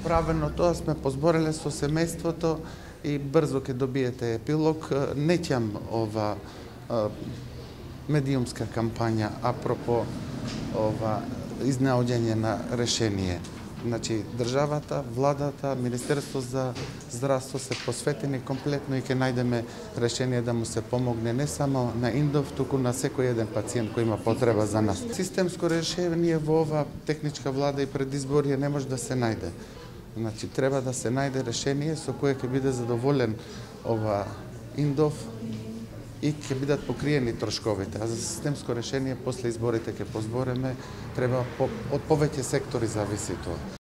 Правено тоа сме позбореле со семејството и брзо ќе добиете епилог. Не ќам ова медиумска кампања апропо ова изнаоѓање на решение. Значи, државата, владата, Министерство за здравство се посветени комплетно и ќе најдеме решение да му се помогне не само на Индов, туку на секој еден пациент кој има потреба за нас. Системско решение во ова техничка влада и предизборие не може да се најде. Значи, треба да се најде решение со кое ќе биде задоволен ова Индов и ќе бидат покриени трошковите. А за системско решение после изборите ќе позбореме, треба од повеќе сектори зависи тоа.